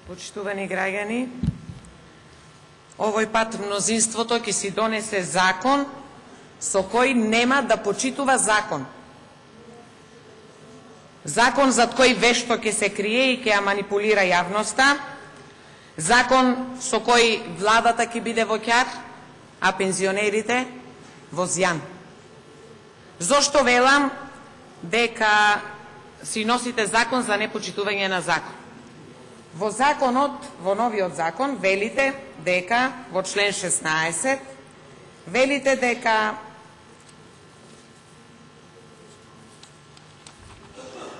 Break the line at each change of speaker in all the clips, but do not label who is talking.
Почитувани граѓани, овој пат мнозинството ќе си донесе закон со кој нема да почитува закон. Закон зад кој вешто ќе се крие и ќе ја манипулира јавноста. Закон со кој владата ќе биде во ќар, а пензионерите во зјан. Зошто велам дека си носите закон за непочитување на закон? Во законот, во новиот закон, велите дека, во член 16, велите дека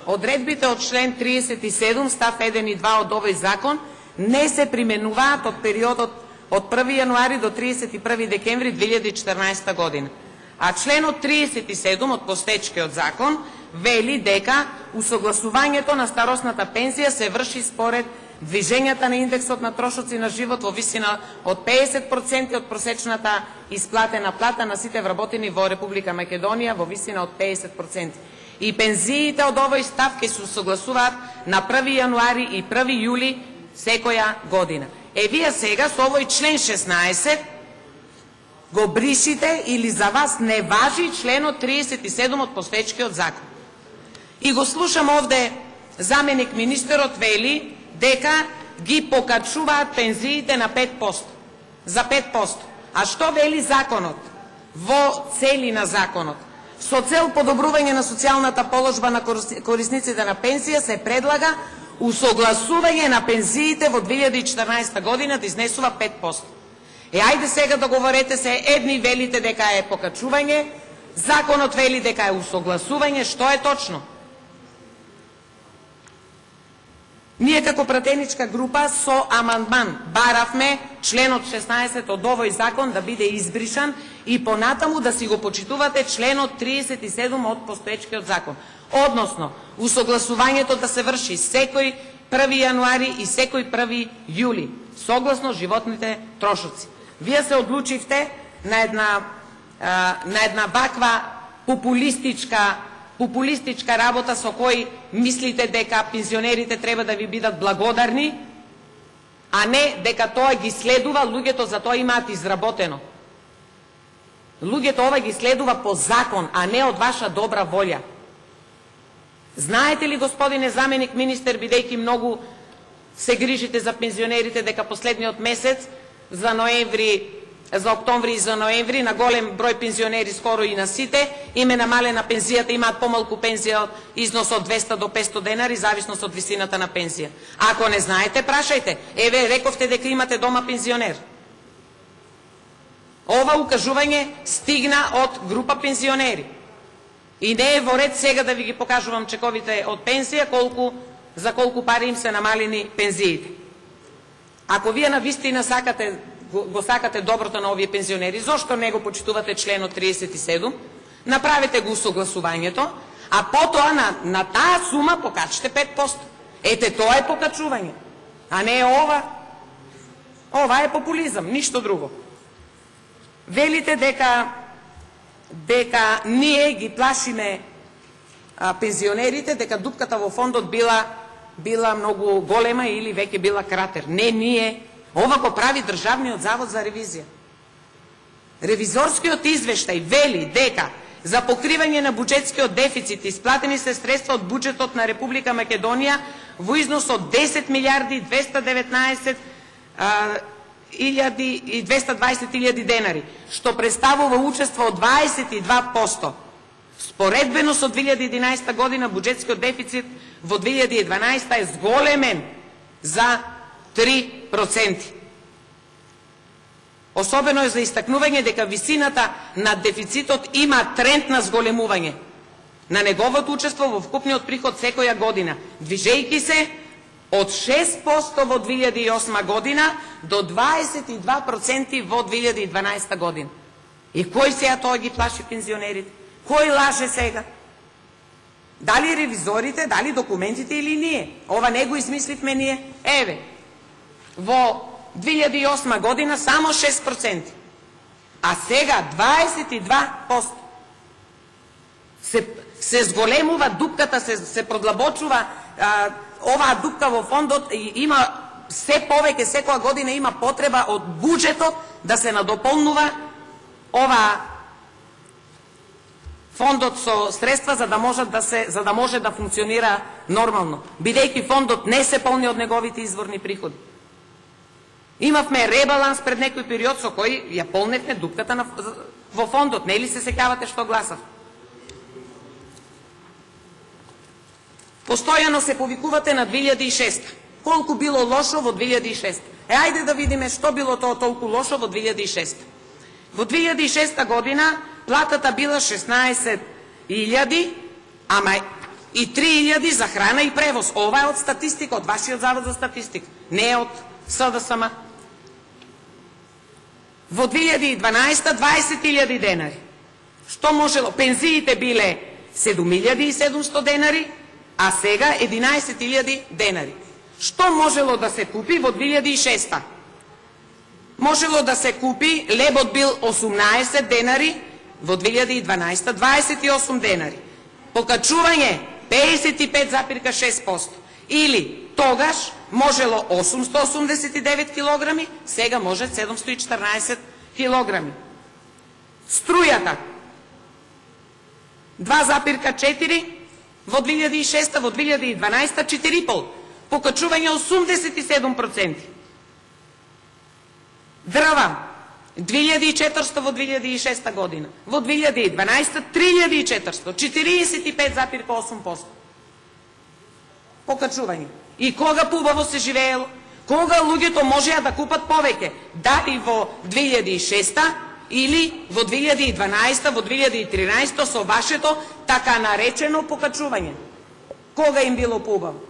одредбите од член 37, став 1 и 2 од овој закон не се применуваат од периодот од 1 јануари до 31 декември 2014 година. А членот 37 од постоечкиот закон вели дека усогласувањето на старосната пензија се врши според движењата на индексот на трошоци на живот во висина од 50% од просечната исплатена плата на сите вработени во Република Македонија во висина од 50%. И пензиите од овој став ќе се усогласуваат на 1 јануари и 1 јули секоја година. Вие сега со овој член 16 го бришите или за вас не важи членот 37 од постоечкиот закон. И го слушам овде заменик министерот вели дека ги покачуваат пензиите на 5%. За 5%. А што вели законот? Во цели на законот. Со цел подобрување на социјалната положба на корисниците на пензија се предлага усогласување на пензиите во 2014 година да изнесува 5%. Ајде сега договорете се, едни велите дека е покачување, законот вели дека е усогласување, што е точно? Ние како пратеничка група со амандман баравме членот 16 од овој закон да биде избришан и понатаму да си го почитувате членот 37 од постоечкиот закон. Односно, усогласувањето да се врши секој 1 јануари и секој 1 јули, согласно животните трошоци. Вие се одлучивте на една ваква популистичка работа со кој мислите дека пензионерите треба да ви бидат благодарни, а не дека тоа ги следува, луѓето за тоа имаат изработено. Луѓето ова ги следува по закон, а не од ваша добра волја. Знаете ли, господине заменик министер, бидејќи многу се грижите за пензионерите, дека последниот месец за октомври и за ноември на голем број пензионери, скоро и на сите, им е намалена пензијата, имаат помалку пензија од износ од 200 до 500 денари, зависност од висината на пензија. Ако не знаете, прашајте. Рековте дека имате дома пензионер. Ова укажување стигна од група пензионери. И не е во ред сега да ви ги покажувам чековите од пензија, за колку пари им се намалени пензиите. Ако вие навистина го сакате доброто на овие пензионери, зошто не го почитувате членот 37, направете го усогласувањето, а потоа на таа сума покачите 5%. Ете, тоа е покачување, а не ова. Ова е популизам, ништо друго. Велите дека ние ги плашиме пензионерите, дека дупката во фондот била многу голема или веќе била кратер. Не ние. Ова го прави Државниот завод за ревизија. Ревизорскиот извештај вели дека за покривање на буџетскиот дефицит исплатени се средства од буџетот на Република Македонија во износ од 10 милиарди 219 и 220.000 денари, што представува учество од 22%. Споредбено со 2011 година буџетскиот дефицит во 2012 е зголемен за 3%. Особено е за истакнување дека висината на дефицитот има тренд на зголемување на неговото учество во вкупниот приход секоја година, движејќи се од 6% во 2008 година до 22% во 2012 година. И кој сега тоа ги плаши пензионерите? Кој лаже сега? Дали ревизорите, дали документите или ние? Ова не го измисливме ние. Во 2008 година само 6%, а сега 22%. Се зголемува дупката, се продлабочува оваа дупка во фондот, има се повеќе секоја година има потреба од буџетот да се надополнува ова фондот со средства за да може да функционира нормално, бидејќи фондот не се полни од неговите изворни приходи. Имавме ребаланс пред некој период со кој ја полневме дупката во фондот, нели се сеќавате што гласав? Постојано се повикувате на 2006. Колку било лошо во 2006? Ајде да видиме што било тоа толку лошо во 2006. Во 2006 година платата била 16.000, ама и 3.000 за храна и превоз. Ова е од статистика, од вашиот завод за статистика, не е од СДСМ. Во 2012 20.000 денари. Што можело? Пензиите биле 7.700 денари, а сега 11.000 денари. Што можело да се купи во 2006? Можело да се купи, лебот бил 18 денари, во 2012 28 денари. Покачување 55,6%. Или тогаш можело 889 килограми, сега може 714 килограми. Струјата 2,4 во 2006, во 2012 4,5. Покачување 87%. Дрва 2400 во 2006 година, во 2012 3400, 45,8% покачување. И кога поубаво се живеело? Кога луѓето можеа да купат повеќе? Дали во 2006 или во 2012, во 2013 со вашето така наречено покачување? Кога им било поубаво?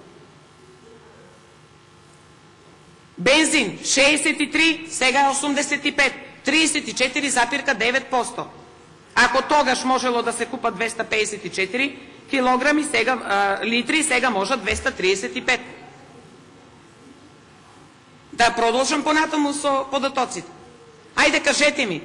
Бензин 63, сега 85, 34,9%. Ако тогаш можело да се купат 254 килограми, литри, сега може 235. Да продолжам понатаму со податоците. Ајде кажете ми,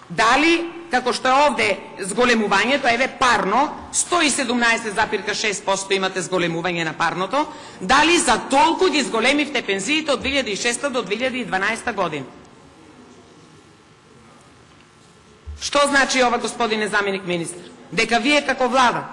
дали, како што е овде зголемувањето, еве парно, 117,6% имате зголемување на парното, дали за толку ги зголемивте пензиите од 2006 до 2012 година? Што значи ова, господине заменик министр? Дека вие како влада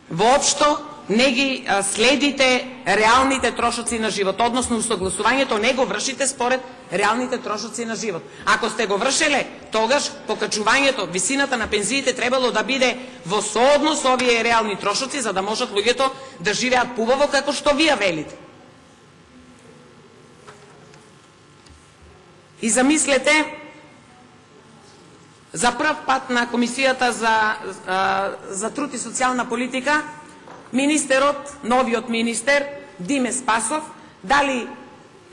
воопшто не ги следите реалните трошоци на живот, односно усогласувањето не го вршите според реалните трошоци на живот. Ако сте го вршеле, тогаш покачувањето, висината на пензиите требало да биде во сооднос со овие реални трошоци, за да можат луѓето да живеат поубаво како што вие велите. И замислете, за прв пат на Комисијата за труд и социјална политика, министерот, новиот министер, Диме Спасов, дали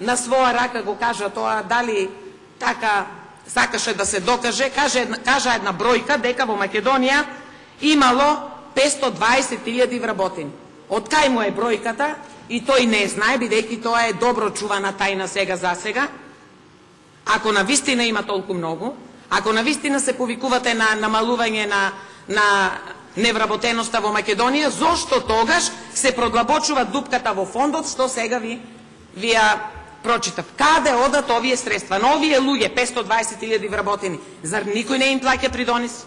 на своја рака го кажа тоа, дали така сакаше да се докаже, кажа една бројка дека во Македонија имало 520.000 вработени. Од кај му е бројката, и тој не знае, бидејќи тоа е добро чувана тајна сега за сега. Ако навистина има толку многу, ако навистина се повикувате на намалување на невработеноста во Македонија, зошто тогаш се продлабочува дупката во фондот, што сега ви ја прочитав? Каде одат овие средства? На овие луѓе, 520.000 вработени, зар никој не им плаќа придонеси?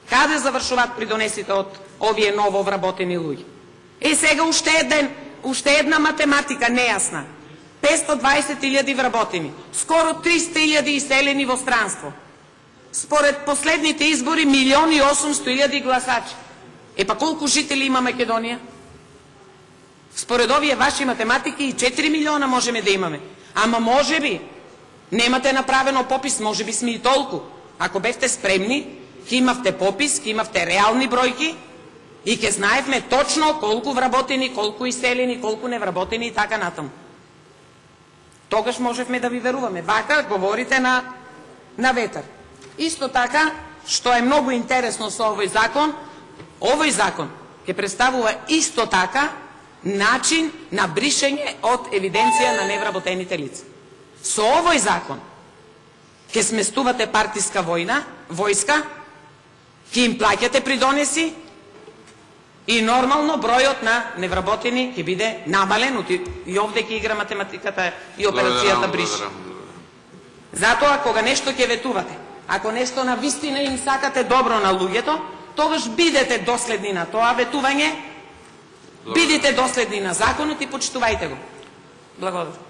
Каде завршуваат придонесите од овие ново вработени луѓе? Сега уште една математика нејасна. 520.000 вработени, скоро 300.000 иселени во странство. Според последните избори 1.800.000 гласачи. Па колку жители има Македонија? Според овие ваши математики и 4 милиона можеме да имаме. Ама може би немате направено попис, може би сме и толку. Ако бевте спремни, ќе имавте попис, ќе имавте реални бројки и ќе знаевме точно колку вработени, колку иселени, колку невработени и така натаму. Тогаш можевме да ви веруваме. Вака говорите на ветер. Исто така, што е многу интересно со овој закон ќе представува исто така начин на бришење од евиденција на невработените лица. Со овој закон ќе сместувате партиска војска, ќе им плаќате придонеси И нормално бројот на невработени ќе биде намален, и овде ќе игра математиката и операцијата бриш. Затоа, кога нешто ќе ветувате, ако нешто на вистина им сакате добро на луѓето, тогаш бидете доследни на тоа ветување, бидете доследни на законот и почитувајте го. Благодарам.